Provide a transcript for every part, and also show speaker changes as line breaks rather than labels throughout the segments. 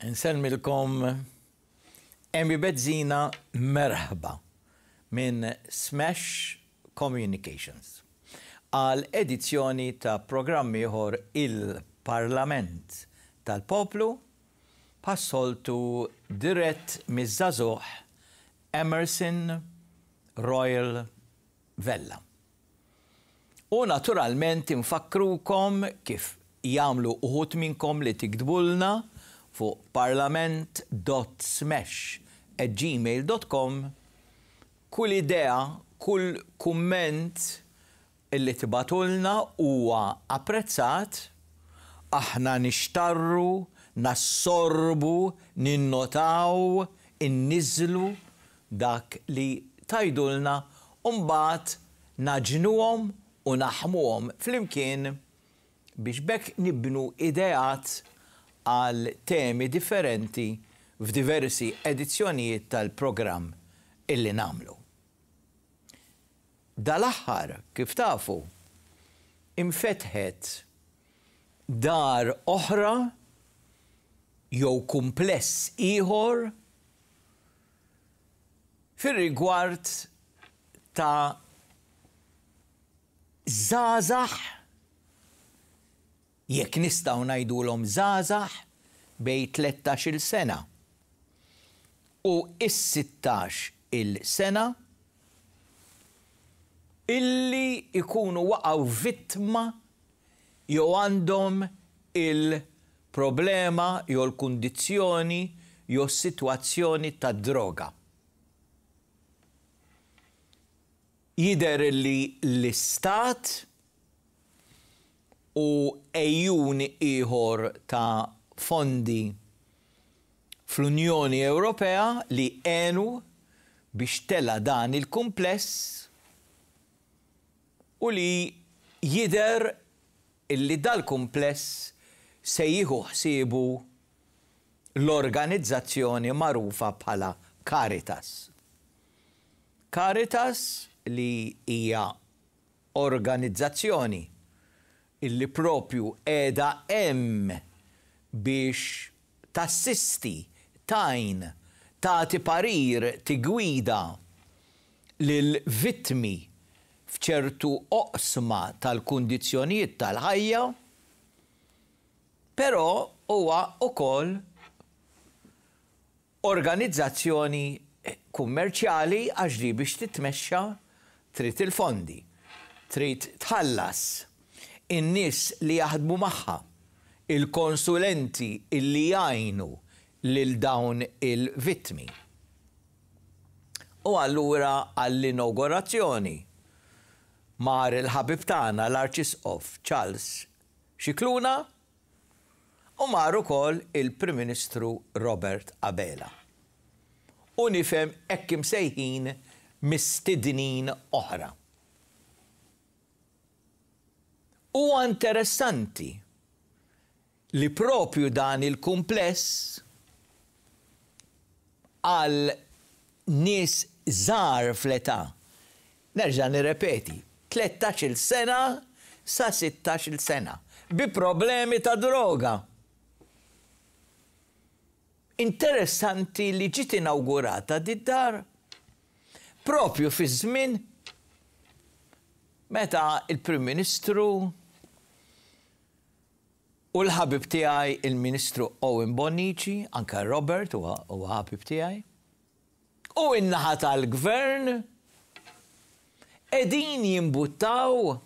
Insellmilkom Amy Bezzina merħba minn Smash Communications għal edizzjoni ta' programm ieħor Il-Parlament tal-Poplu bħas-soltu dirett miż-żagħżugħ Emerson Royal Vella. U naturalment infakkrukom kif jagħmlu uħud minnkom li tiktbulna fuq parlament.smash@gmail.com kull idea, kull kumment illi tibagħtulna huwa apprezzat, aħna nixtarru, nassorbu, ninnotaw, inniżżlu dak li tgħidulna u mbagħad nagħġnuhom u naħmuhom flimkien biex b'hekk nibnu ideat għal temi differenti f'diversi edizzjonijiet tal-programm illi nagħmlu. Dal-aħħar, kif tafu, infetħet dar oħra jew kumpless ieħor Fir-rigward ta' żgħażagħ, jekk nistgħu ngħidulhom żgħażagħ bejn tlettax-il sena u s-sittax-il sena, illi jkunu waqgħu vittma jew għandhom il-problema jew l-kundizzjoni jew s-sitwazzjoni tad-droga. Jidher li l-Istat u għejun ieħor ta' fondi fl-Unjoni Ewropea li għenu biex tela' dan il-kumpless u li jidher illi dal-kumpless se jieħu ħsiebu l-organizzazzjoni magħrufa bħala Caritas. Caritas li hija organizzazzjoni illi propju qiegħda hemm biex tassisti, tgħin, tagħti parir, tiggwida lill-vittmi f'ċertu oqsma tal-kundizzjonijiet tal-ħajja, però huwa wkoll organizzazzjoni kummerċjali għax di biex titmexxa trid il-fondi, trid tħallas in-nies li jaħdmu magħha, il-konsulenti li jgħinu lil dawn il-vittmi. U allura għall-inawgurazzjoni mar il-ħabib tagħna l-Arċisqof Charles Scicluna u mar ukoll il-Prim Ministru Robert Abela. U nifhem hekk imsejħin mistednin oħra. Huwa interessanti li proprju dan il-kumpless għal nies żgħar fl-età, nerġa' nirrepeti, tlettax-il sena sa sittax-il sena, bi problemi ta' droga. Interessanti li ġiet inawgurata did-dar proprju fiż-żmien meta l-Prim Ministru U l-ħabib tiegħi il-Ministru Owen Bonnici, anke Robert huwa ħabib tiegħi, u n-naħa tal-Gvern qegħdin jimbuttaw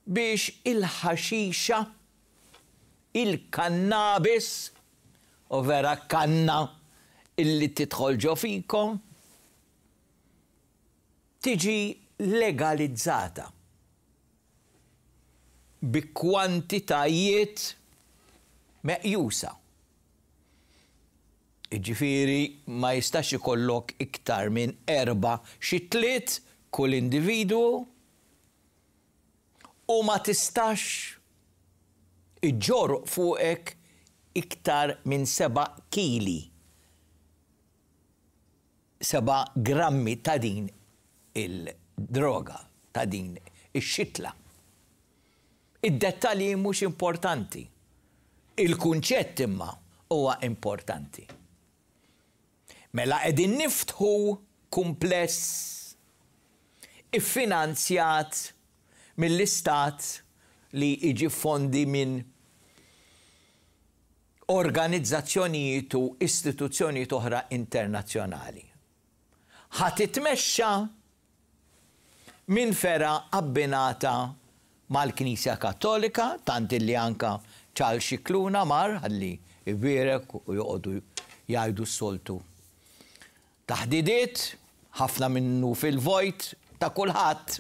biex il-ħaxixa, il-kannabis, u vera kanna illi tidħol ġo fikom, tiġi legalizzata. bi kwantitajiet meqjusa. Jiġifieri ma jistax ikollok iktar minn erba' xitliet kull individwu u ma tistax iġġorr fuqek iktar minn seba' kili 7 grammi ta' din il-droga, ta' din ix-xitla. Id-dettalji mhux importanti. Il-kunċett imma. huwa importanti. Mela qegħdin niftħu kumpless iffinanzjat mill-Istat li jġib fondi minn organizzazzjonijiet u istituzzjonijiet oħra internazzjonali. Ħa titmexxa minn fergħa abbinata mal-Knisja Kattolika, tant illi anka Charles Scicluna mar ħalli jbierek u joqogħdu jgħidu s-soltu taħdidiet, ħafna minnu fil-vojt ta' kulħadd,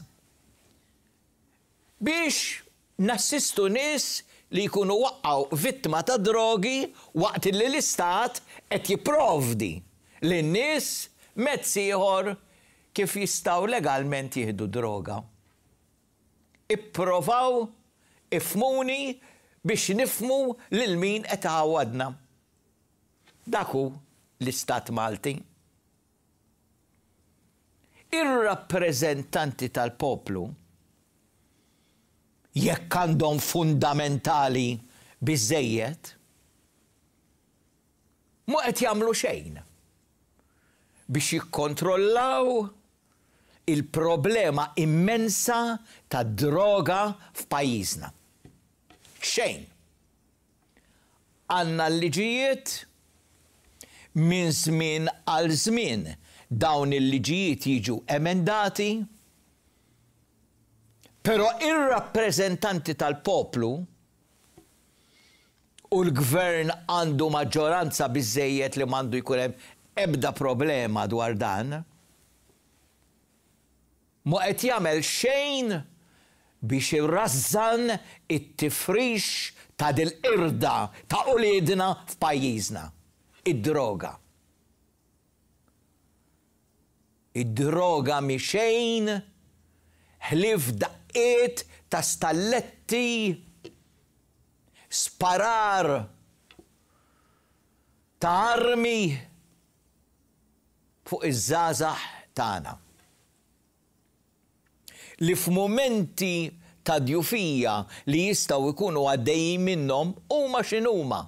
biex nassistu nies li jkunu waqgħu vittma ta' drogi waqt li l-Istat qed jipprovdi lin-nies mezz ieħor kif jistgħu legalment jieħdu droga. Ipprovaw ifhmuni biex nifhmu lil min qed iħawwadna. Dak hu l-Istat Malti. Ir-rappreżentanti tal-poplu, jekk għandhom fundamentali biżżejjed, mhu qed jagħmlu xejn biex jikkontrollaw il-problema immensa tad-droga f'pajjiżna. Xejn. Għandna l-liġijiet, minn żmien għal żmien dawn il-liġijiet jiġu emendati, però ir-rappreżentanti tal-poplu u l-Gvern għandu maġġoranza biżżejjed li m'għandu jkun hemm ebda problema dwar dan, Mhu qed jagħmel xejn biex irażżan it-tifrix ta' dil-qirda ta' uliedna f'pajjiżna, id-droga. Id-droga mhi xejn ħlief daqqiet ta' stalletti, sparar ta' armi, fuq iż-żgħażagħ tagħna, li f'mumenti ta' djufija li jistgħu jkunu għaddejjin minnhom huma x'inhuma,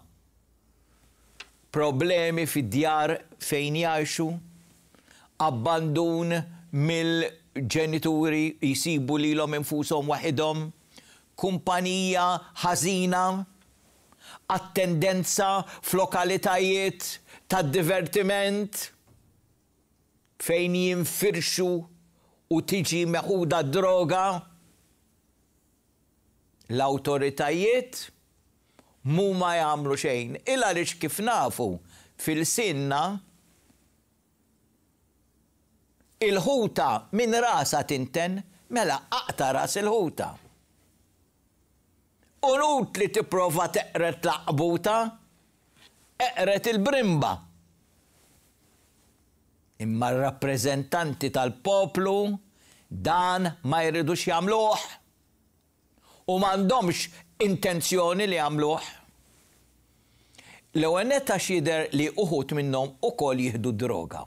problemi fid-djar fejn jgħixu, abbandun mill-ġenituri jsibu lilhom infushom waħidhom, kumpanija ħażina, attendenza f'lokalitajiet tad-divertiment fejn jinfirxu u tiġi meħuda d-droga, l-awtoritajiet m'huma jagħmlu xejn il għaliex kif nafu f'ilsienna il-ħuta minn rasha tinten, mela aqta' ras il-ħuta. Inutli tipprova teqred l-għaqbuta, eqred il-brimba. Imma r-rappreżentanti tal-poplu dan ma jridux jagħmluh u m'għandhomx intenzjoni li jagħmluh. L-ewwel nett għax jidher li uħud minnhom ukoll jieħdu d-droga.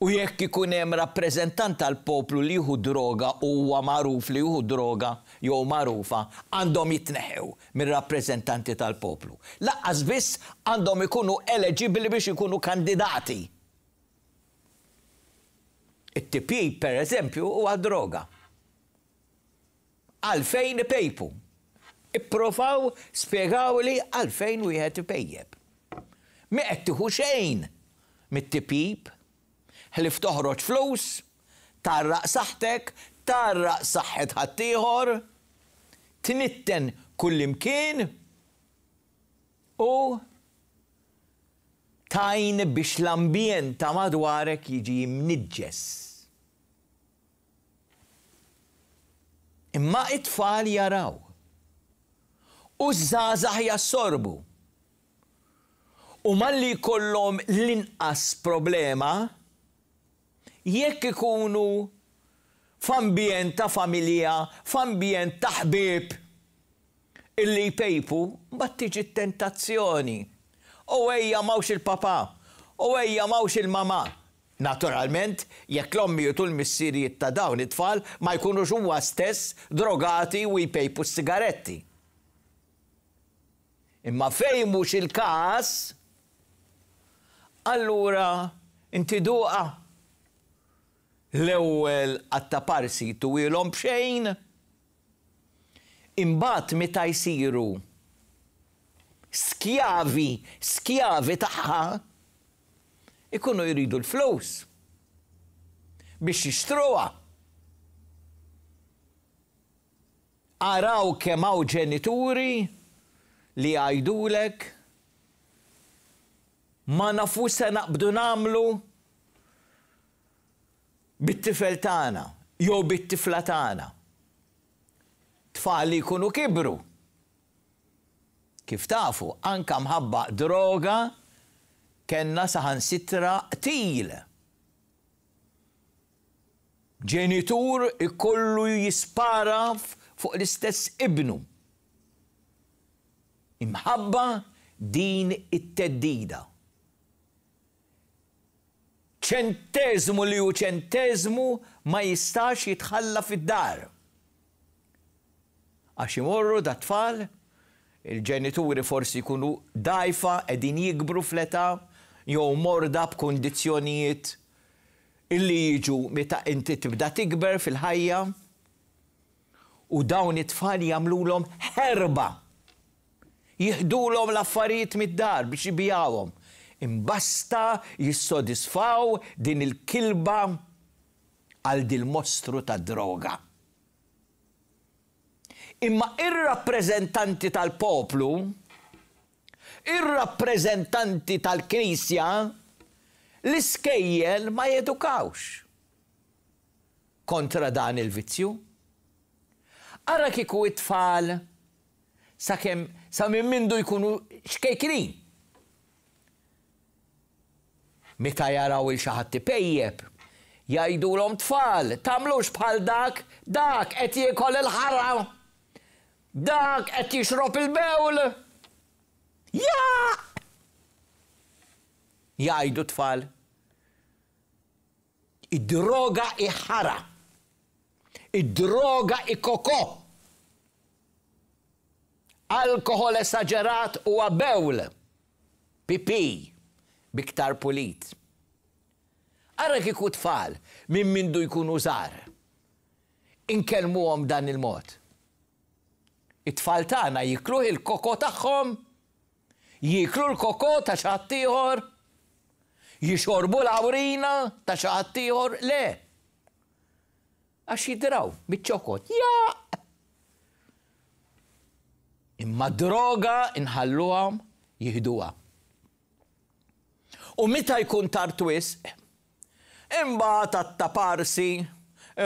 U jekk ikun hemm rappreżentant tal-poplu li jieħu droga u huwa magħruf li jieħu droga jew magħrufa, għandhom jitneħħew mir-rappreżentanti tal-poplu. Lanqas biss għandhom ikunu eleġibbli biex ikunu kandidati. It-tipjip, per eżempju, huwa droga. Għalfejn ipejpu? Ipprovaw spjegawli għalfejn wieħed ipejjep. M'hi qed tieħu xejn mit-tipjip, ħlief toħroġ flus, tgħarraq saħħtek, tgħarraq saħħet ħaddieħor, tnitten kullimkien u tgħin biex l-ambjent ta' madwarek jiġi mniġġes. Imma it-tfal jaraw. U ż-żgħażagħ jassorbu. U malli jkollhom l-inqas problema, jekk ikunu f'ambjent ta' familja, f'ambjent ta' ħbieb illi jpejpu, mbagħad tiġi t-tentazzjoni. U ejja m'hawnx il-papà, u ejja m'hawnx il-mamà. Naturalment, jekk l-ommijiet u l-missirijiet ta' dawn it-tfal ma jkunux huwa stess drogati u jpejpu s-sigaretti. Imma fejn mhux il-każ, allura inti duqha. L-ewwel għat-taparsi jtuhielhom b'xejn, imbagħad meta jsiru skjavi, skjavi tagħha, ikunu jridu l-flus biex jixtruha. Araw kemm hawn ġenituri li jgħidulek ma nafux se naqbdu nagħmlu bit-tifel tagħna jew bit-tifla tagħna. Tfal li jkunu kibru. Kif tafu, anke mħabba droga kellna saħansitra qtil. Ġenitur ikollu jispara fuq l-istess ibnu. Imħabba din it-theddida. Ċenteżmu li hu ċenteżmu ma jistax jitħalla fid-dar. Għax imorru dat-tfal, il-ġenituri forsi jkunu dgħajfa, qegħdin jikbru fl-età, jew morda b'kundizzjonijiet illi jiġu meta inti tibda tikber fil-ħajja, u dawn it-tfal jagħmlulhom ħerba. Jiħdulhom l-affarijiet mid-dar biex ibigħuhom. Imbasta jissodisfaw din il-kilba għal dil-mostru tad-droga. Imma ir-rappreżentanti tal-poplu, ir-rappreżentanti tal-Knisja, l-iskejjel ma jedukawx kontra dan il-vizzju. Ara kieku t-tfal sakemm sa minn mindu jkunu ċkejknin. Meta jaraw 'il xi ħadd ipejjep, jgħidulhom tfal, tagħmlux bħal dak, dak qed jiekol il-ħara! Dak qed jixrob il-bewl! Jaqq! Jgħidu t-tfal. Id-droga hi ħara. Id-droga hi kokò. Alkoħol esaġerat huwa bewl. Pipì, b'iktar pulit. Ara kieku tfal minn mindu jkunu żgħar inkellmuhom b'dan il-mod. It-tfal tagħna jiekluh il-kokò tagħhom? Jieklu l-kokò ta' xi ħaddieħor? Jixorbu l-awrina ta' xi ħaddieħor? Le. Għax jidraw miċ-ċokot. Jaqq! Imma d-droga nħalluhom jieħduha. U meta jkun tard wisq, imbagħad għat-taparsi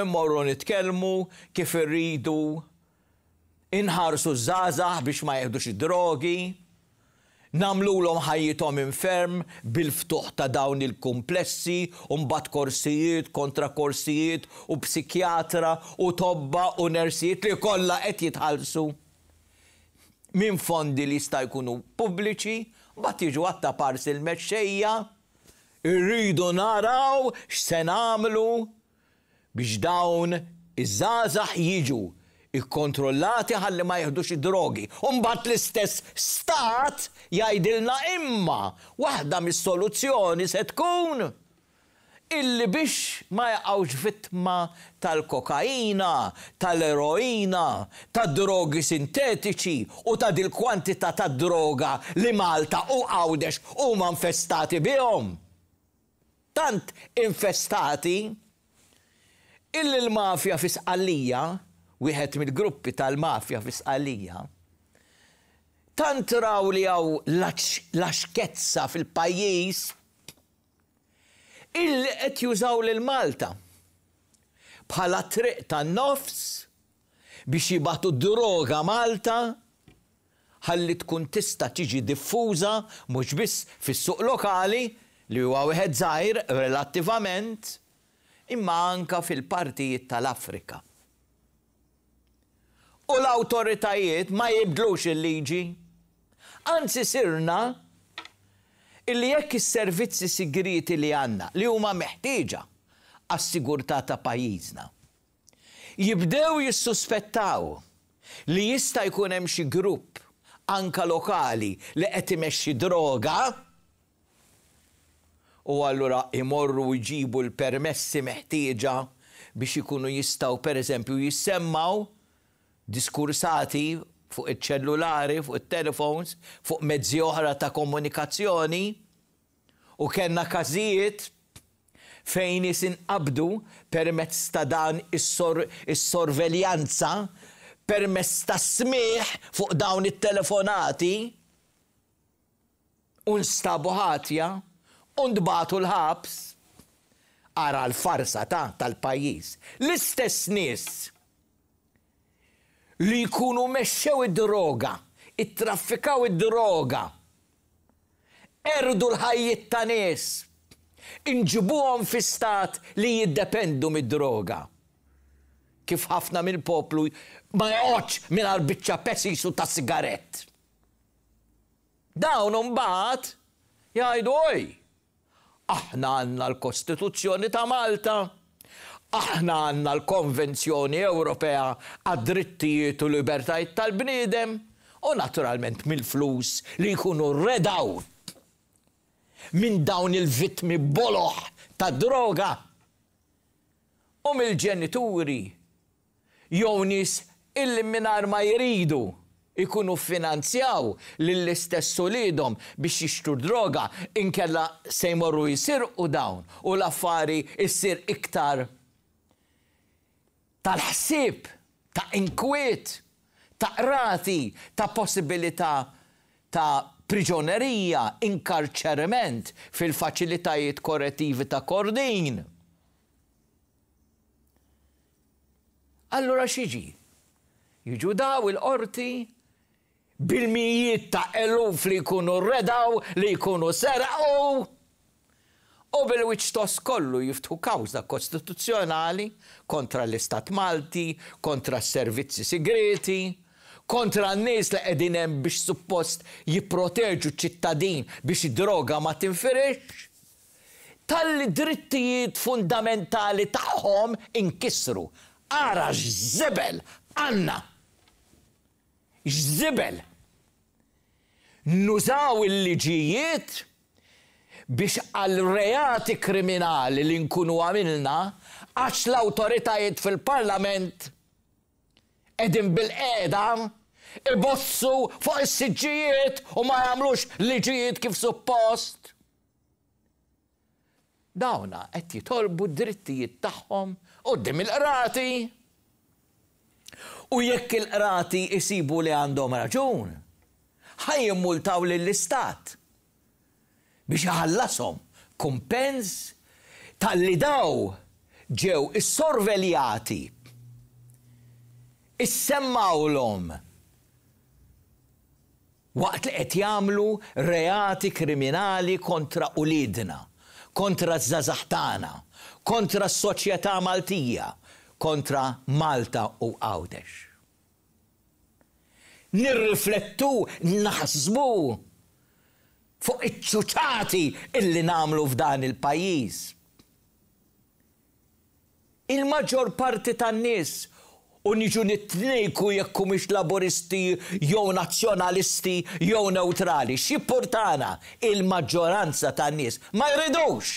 mmorru nitkellmu kif irridu inħarsu ż-żgħażagħ biex ma jieħdux id-drogi, nagħmlulhom ħajjithom infern bil-ftuħ ta' dawn il-kumplessi u mbagħad korsijiet kontra korsijiet u psikjatra u tobba u nersijiet li kollha qed jitħallsu minn fondi li jista' jkunu pubbliċi, mbagħad jiġu għat-taparsi l-mexxejja, irridu naraw x'se nagħmlu biex dawn iż-żgħażagħ jiġu kkontrollati ħalli ma jiħdux id-drogi. U mbagħad l-istess stat jgħidilna imma waħda mis-soluzzjoni se tkun illi biex ma jaqgħux vittma tal-kokaina, tal-eroina, tad-drogi sintetiċi u ta' dil-kwantità ta' droga li Malta u Għawdex huma infestati bihom. Tant infestati illi l-mafja fi Sqallija, wieħed mill-gruppi tal-mafja fi Sqallija, tant raw li hawn laxkezza fil-pajjiż illi qed jużaw lil Malta bħala triq tan-nofs biex jibagħtu d-droga Malta ħalli tkun tista' tiġi diffuża mhux biss fis-suq lokali, li huwa wieħed żgħir relattivament, imma anke fil-partijiet tal-Afrika. U l-awtoritajiet ma jibdlux il-liġi. Anzi sirna illi jekk is-servizzi sigrieti li għandna, li huma meħtieġa għas-sigurtà ta' pajjiżna, jibdew jissuspettaw li jista' jkun hemm xi grupp anke lokali li qed imexxi droga, u allura jmorru jġibu l-permessi meħtieġa biex ikunu jistgħu pereżempju jissemmgħu diskursati fuq iċ-ċellulari, fuq it-telefons, fuq mezzi oħra ta' komunikazzjoni. U kellna każijiet fejn nies inqabdu permezz ta' dan is-sorveljanza, permezz tas-smigħ fuq dawn it-telefonati u nstabu ħatja u ntbagħtu l-ħabs. Ara l-farsa ta' tal-pajjiż. L-istess nies li jkunu mexxew id-droga, ittraffikaw id-droga, Qerdu l-ħajjiet ta' nies. Inġibuhom fi stat li jiddependu mid-droga. Kif ħafna mill-poplu ma joqgħodx mingħajr biċċa pesis u ta' sigarett. Dawn imbagħad jgħidu oj! Aħna għandna l-Kostituzzjoni ta' Malta, aħna għandna l-Konvenzjoni Ewropea għad-Drittijiet u Libertajiet tal-Bniedem u naturalment mill-flus li jkunu redgħu minn dawn il-vittmi boloh tad-droga u mill-ġenituri jew nies illi mingħajr ma jridu jkunu ffinanzjaw lill-istess uliedhom biex jixtru d-droga inkella se jmorru jisirqu dawn u l-affari ssir iktar tal-ħsieb, ta' inkwiet, ta' qrati, ta' possibilità ta' priġonerija, inkarċeriment fil-faċilitajiet korrettivi ta' Kordin. Allura x'jiġi? Jiġu daw il-qorti bil-mijiet ta' eluf li jkunu redaw, li jkunu serqu, u bil-wiċċ tost kollu jiftħu kawża kostituzzjonali kontra l-Istat Malti, kontra s-servizzi sigrieti, kontra n-nies li qegħdin hemm biex suppost jipproteġu ċ-ċittadin biex id-droga ma tinfirixx. Talli drittijiet fundamentali tagħhom inkisru. Ara x'żibel għandna! X'żibel! Nużaw il-liġijiet biex għal reati kriminali li nkunu għamilna għax l-awtoritajiet fil-Parlament qegħdin bilqiegħda ibossu fuq is-siġġijiet u ma jagħmlux liġijiet kif suppost. Dawna qed jitolbu d-drittijiet tagħhom quddiem il-qrati. U jekk il-qrati jsibu li għandhom raġun, ħa jimmultaw lill-Istat biex iħallashom kumpens talli daw ġew issorveljati, issemmgħulhom waqt li qed jagħmlu reati kriminali kontra uliedna, kontra ż-żgħażagħ tagħna, kontra s-soċjetà Maltija, kontra Malta u Għawdex. Nirriflettu, naħsbu fuq iċ-ċuċati illi nagħmlu f'dan il-pajjiż. Il-maġġor parti tan-nies, u niġu nitnejku jekk humiex Laburisti jew Nazzjonalisti jew newtrali, x'jippurtana, il-maġġoranza tan-nies ma jridux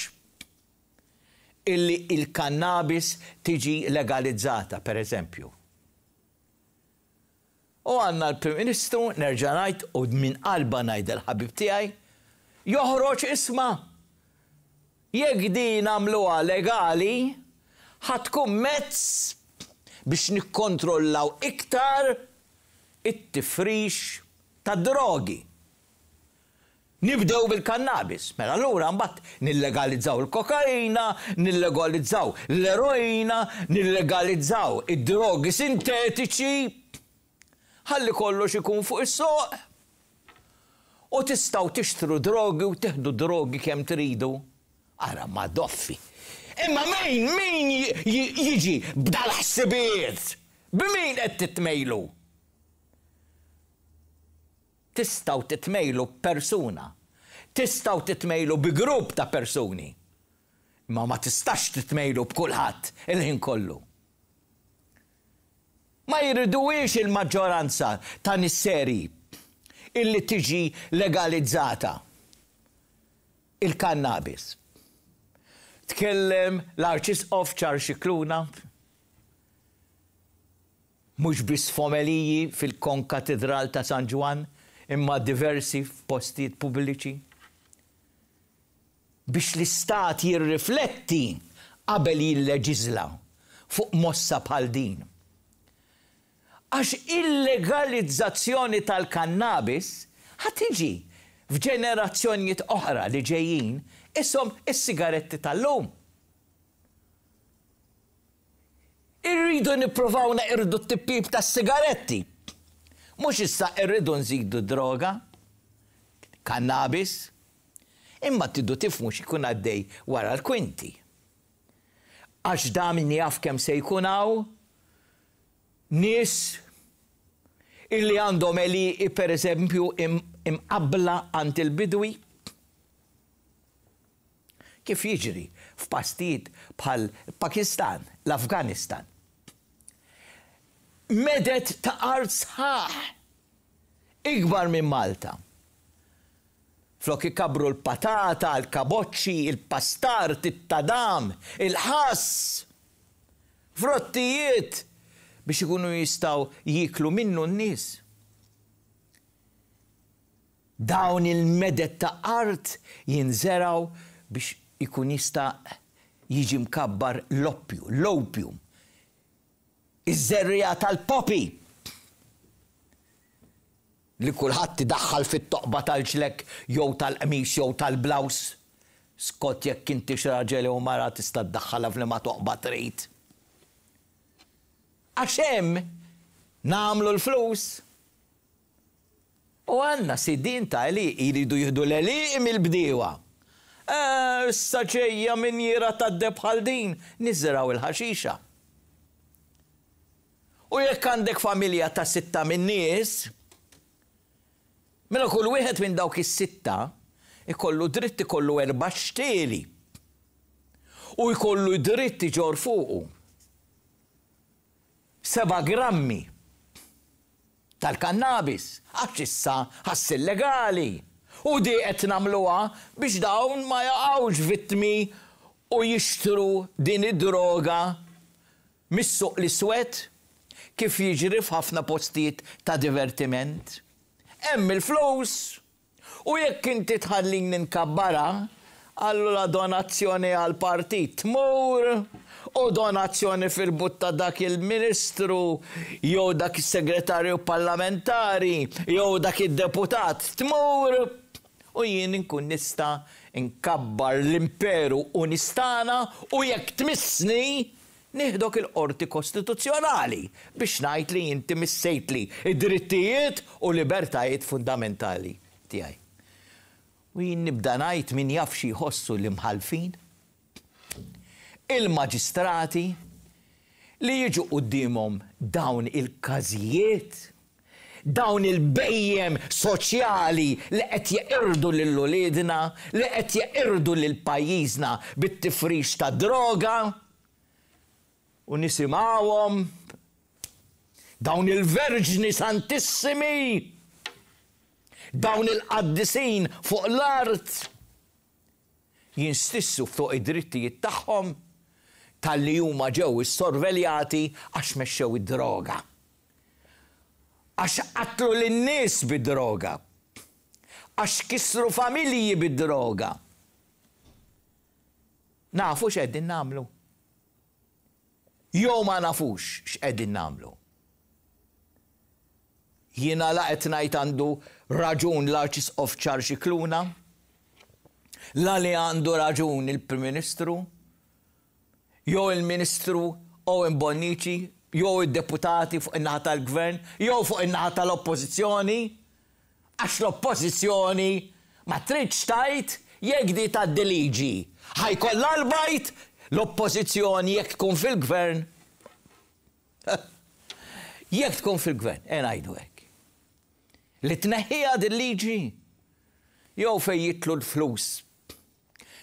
illi l-kannabis tiġi legalizzata, per eżempju. U għandna l-Prim Ministru, nerġa' ngħid u minn qalba ngħidha l-ħabib tiegħi, joħroġ isma' jekk din nagħmluha legali ħa tkun mezz biex nikkontrollaw iktar it-tifrix tad-drogi. Nibdew bil-kannabis. Mela allura mbagħad nillegalizzaw il-kokaina, nillegalizzaw l-eroina, nillegalizzaw id-drogi sintetiċi, ħalli kollox ikun fuq is-suq. U tistgħu tixtru drogi u tieħdu drogi kemm tridu. Ara madoffi. Imma min, min jiġi b'dal-ħsibijiet? B'min qed titmejlu? Tistgħu titmejlu b'persuna. Tistgħu titmejlu bi grupp ta' persuni. Imma ma tistax titmejlu b'kulħadd il-ħin kollu. Ma jriduhiex il-maġġoranza ta' nies serji. illi tiġi legalizzata il-kannabis. Tkellem l-Arċisqof Charles Scicluna, mhux biss f'omeliji fil-Konkatidral ta' San Ġwann imma diversi f'postijiet pubbliċi, biex l-Istat jirrifletti qabel jilleġiżla fuq mossa bħal din. Għax il-legalizzazzjoni tal-kannabis ħa tiġi f'ġenerazzjonijiet oħra li ġejjin ishom is-sigaretti tal-lum. Irridu nippruvaw neqirdu t-tipjip tas-sigaretti. Mhux issa rridu nżidu d-droga, kannabis. Imma tridu tifhmu x'ikun għaddej wara l-kwinti. Għax da min jaf kemm se jkun hawn nies illi għandhom għelieqi pereżempju imqabbla għand il-bidwi. Kif jiġri f'pastijiet bħal Pakistan, l-Afganistan. Meded ta' art sħaħ ikbar minn Malta. Flok ikabbru l-patata, l-kaboċċi, il-pastard, it-tadam, il-ħass, frottijiet biex ikunu jistgħu jieklu minnu n-nies. Dawn il-meded ta' art jinżergħu biex ikun jista' jiġi mkabbar l-oppju, l-opium, iż-żerriegħa tal-poppy li kulħadd idaħħal fit-toqba tal-ġlekk jew tal-qmis jew tal-blouse, skont jekk intix raġel jew mara tista' ddaħħalha f'liema toqba trid. Għax hemm nagħmlu l-flus. U għandna sidien ta' għelieqi jridu jieħdu l-għelieqi mill-bdiewa. Eh, issa ġejja minjiera tad-deheb bħal din, niżirgħu l-ħaxixa. U jekk għandek familja ta' sitta min-nies, mela kull wieħed minn dawk is-sitta jkollu dritt ikollu erba' xtieli u jkollu dritt iġorr fuqu seba' grammi tal-kannabis għax issa ħa ssir legali u di qed nagħmluha biex dawn ma jaqgħux vittmi u jixtru din id-droga mis-suq l-iswed kif jiġri f'ħafna postijiet ta' divertiment. Hemm il-flus! U jekk inti tħallini nkabbarha, allura donazzjoni għall-partit tmur u donazzjoni fil-but ta' dak il-ministru jew dak is-segretarju parlamentari jew dak id-deputat tmur u jien inkun nista' nkabbar l-imperu u nistagħna u jekk tmissni nieħdok il-Qorti Kostituzzjonali biex ngħid li inti missejtli d-drittijiet u libertajiet fundamentali tiegħi. U jien nibda ngħid min jaf xi jħossu l-imħallfin, il-maġistrati li jiġu quddiemhom dawn il-każijiet, dawn il-bhejjem soċjali li qed jeqirdu lil uliedna, li qed jeqirdu lil pajjiżna bit-tifrix tad-droga, u nisimgħuhom dawn il-verġni santissimi, dawn il-qaddisin fuq l-art, jinstissu fuq id-drittijiet tagħhom talli huma ġew issorveljati għax mexxew id-droga. Għax qatlu lin-nies bid-droga. Għax kissru familji bid-droga. Nafu x'qegħdin nagħmlu? Jew ma nafux x'qegħdin nagħmlu? Jiena la qed ngħid għandu raġun l-Arċisqof Charles Scicluna, la li għandu raġun il-Prim Ministru, jew il-Ministru Owen Bonnici, jew id-deputati fuq in-naħa tal-Gvern, jew fuq in-naħa tal-Oppożizzjoni, għax l-Oppożizzjoni ma tridx tgħid jekk di tgħaddi liġi ħa jkollha l-bajd, l-Oppożizzjoni jekk tkun fil-Gvern Jekk tkun fil-gvern, e ngħidu hekk. Li tneħħiha din liġi jew fejn jidħlu l-flus,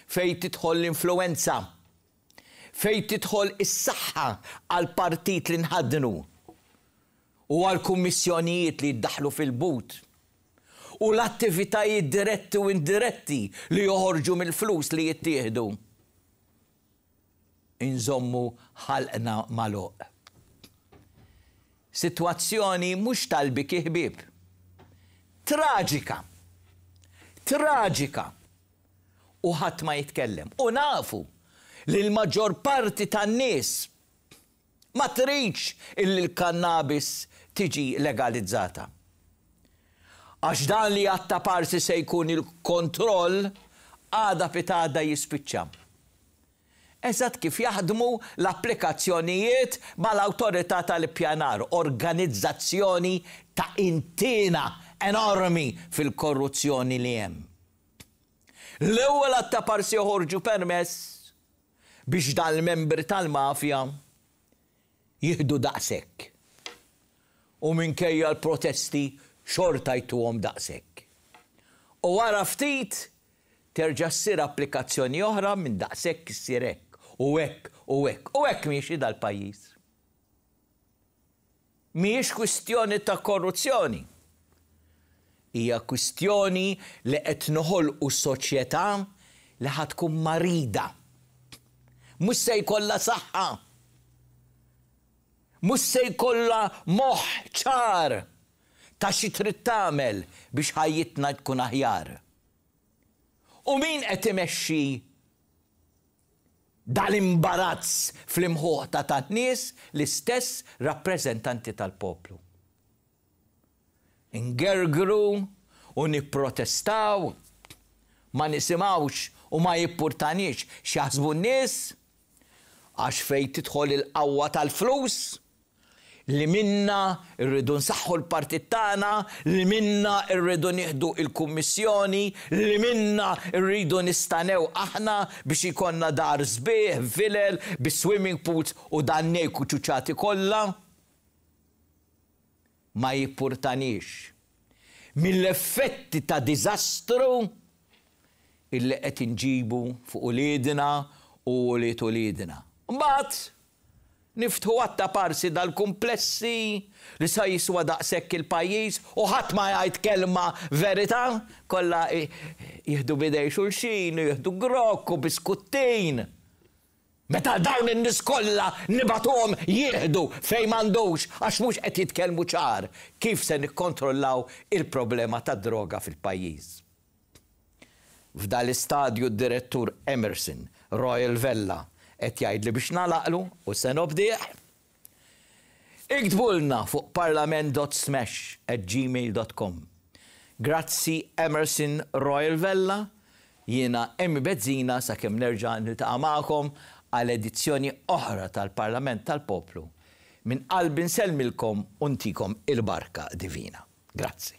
fejn tidħol l-influwenza, fejn tidħol is-saħħa għall-partit li nħaddnu u għall-kummissjonijiet li jiddaħħlu fil-but. u l-attivitajiet diretti u indiretti li joħorġu mill-flus li jittieħdu, inżommu ħalqna magħluq. Sitwazzjoni mhux tal-biki ħbieb. Traġika! Traġika! U ħadd ma jitkellem. U nafu li l-maġġor parti tan-nies ma tridx illi l-kannabis tiġi legalizzata. Għax dan li għat-taparsi se jkun il-kontroll għada pitgħada jispiċċa. Eżatt kif jaħdmu l-applikazzjonijiet mal-Awtorità tal-Ippjanar, organizzazzjoni ta' intiena enormi fil-korruzzjoni li hemm. L-ewwel għat-taparsi joħorġu permess biex dal-membri tal-mafja jieħdu daqshekk. U minkejja l-protesti xorta jtuhom daqshekk. U wara ftit terġa' ssir applikazzjoni oħra minn daqshekk issir hekk u hekk u hekk. U hekk miexi dal-pajjiż. Mhijiex kwistjoni ta' korruzzjoni. Hija kwistjoni li qed noħolqu soċjetà li ħa tkun marida. Mhux se jkollha saħħa. Mhux se jkollha moħħ ċar ta' xi trid tagħmel biex ħajjitna tkun aħjar. U min qed imexxi dal-imbarazz fl-imħuħ ta' tan-nies? L-istess rappreżentanti tal-poplu. Ingergru u nipprotestaw, ma nisimgħux u ma jippurtaniex x'jaħsbu n-nies, għax fejn tidħol il-qawwa tal-flus, li minnha rridu nsaħħu l-partit tagħna, li minnha rridu nieħdu l-kummissjoni, li minnha rridu nistanew aħna biex ikollna dar sbieħ, vilel, bi swimming pools u dan nejk u ċuċati kollha. Ma jippurtaniex mill-effetti ta' diżastru illi qed inġibu fuq uliedna u ulied uliedna. Mbagħad Niftħu għadd ta' parsi dal-kumplessi li sa jiswa daqshekk il-pajjiż u ħadd ma jgħid kelma verità, kollha jieħdu b'idej xulxin u jieħdu grokk u biskuttin. Meta dawn in-nies kollha nibagħtuhom jieħdu fejn m'għandux għax mhux qed jitkellmu ċar kif se nikkontrollaw il-problema tad-droga fil-pajjiż. F'dal-istadju d-Direttur Emerson Royal Vella qed jgħidli biex nagħlaqlu u se nobdih. Iktbulna fuq parlament.smash@gmail.com. Grazzi Emerson Royal Vella, jiena Emmy Bezzina sakemm nerġa' niltaqa' magħkom għal edizzjoni oħra tal-Parlament tal-Poplu. Minn qalbi nsellmilkom u ntikom il-barka divina. Grazzi.